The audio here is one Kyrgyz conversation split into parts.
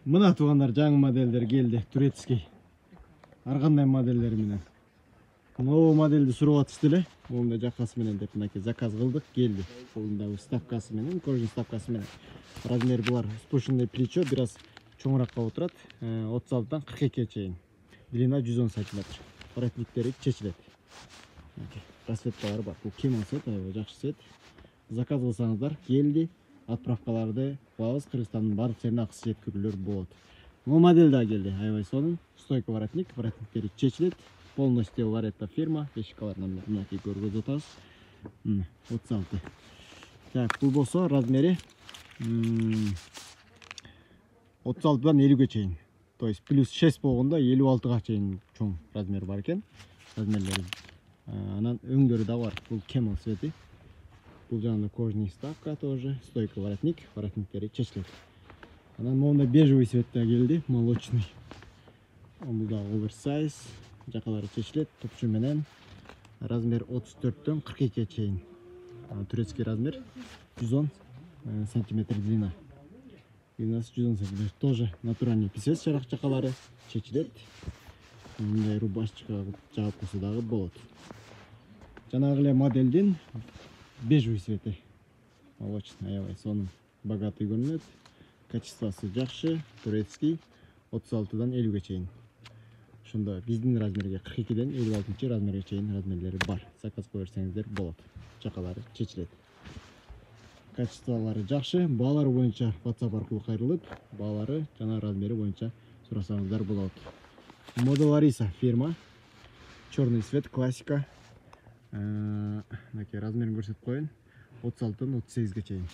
Мына туугандар, жаңы модельдер келди, турецкий. Ар кандай моделдери менен. Новый модельди сурап атышты эле. Монда жакасы менен деп мынакей заказ кылдык, келди. Колунда вставкасы менен, кожаный вставкасы менен. Размер булар спущенный плечо, бир аз чоңураак болуп турат. 36-дан 42-ге чейин. Длина 110 см. Воротниктери чечилет. Расцветкалары бар. Бул кемал свет, аябай жакшы свет. Заказ кылсаңыздар, келди. Отправкаларды кылабыз, Кыргызстандын баардык жерине акысыз жеткирүүлөр болот. Бул модель да келди, аябай сонун. Стойка воротник, воротниктери чечилет. Полностью Варета фирма, вещикаларынан мынакей көргөзүп атабыз. 36. Так, бул болсо размери 36-дан 50-ге чейин. То есть плюс 6 болгондо 56-га чейин чоң размер бар экен. Размерлери. Анан өңдөрү да бар. Бул кемал свети. Бул жанагы кожаный вставка тоже, стойка воротник, воротниктери чечилет. Анан монда бежевый цветте келди, молочный. Бул да оверсайз, жакалары чечилет, топчу менен. Размер 34-төн 42-ге чейин. Турецкий размер 110 см длина. Длинасы 110 см. Тоже натуральный писец, жакалары чечилет. Мындай рубашечка жаап койсо дагы болот. Жанагы эле модельдин бежевый цвети. Молочный, аябай сонун, богатый көрүнөт. Качествосы жакшы, турецкий, 36-дан 50-ге чейин. Ошондо биздин размерге 42-ден 56 размерге чейин размерлери бар. Заказ кое берсеңиздер болот. Жакалары чечилет. Качестволору жакшы, баалары боюнча WhatsApp аркылуу кайрылып, баалары жана размери боюнча сурасаңыздар болот. Мода Лариса фирма. Черный цвет, классика. Мынакей размерин көрсөтүп коеюн. 36-дан 38-ге чейин.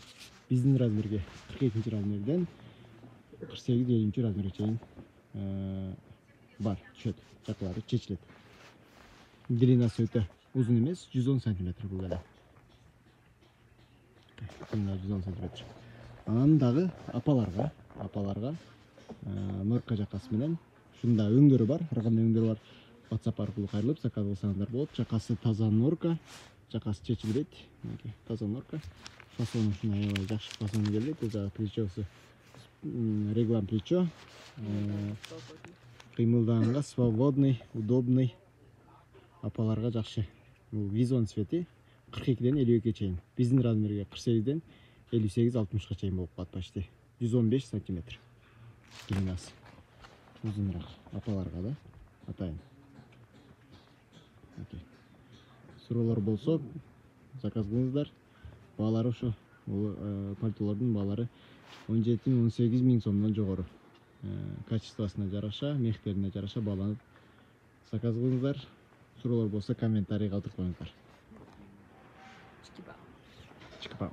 Биздин размерге 42 размерден 48-50 размерге чейин бар, түшөт. Жакалары чечилет. Длинасы өтө узун эмес, 110 см бул эле. Длина 110 см. Анан дагы апаларга норка жакасы менен. Ушунда өңдөрү бар, ар кандай өңдөрү бар. WhatsApp аркылуу кайрылып заказ кылсаңыздар болот. Жакасы таза норка, жакасы чечилбейт. Таза норка. Фасону ушундай аябай жакшы фасон келди. Бул жагы плечосу реглан плечо. Кыймылдаганга свободный, удобный. Апаларга жакшы. Бул визон цвети 42-ден 52-ге чейин. Биздин размерге 48-ден 58-60-га чейин болуп калат почти. 115 см. Длинасы узунураак. Апаларга да атайын. Суроолор болсо заказ кылыңыздар. Баалары ушу пальтолордун баалары 17-18 миң сомдон жогору. Качествосуна жараша, мехтерине жараша бааланып заказ кылыңыздар. Суроолор болсо комментарий калтырып коюңуздар. Чикипао.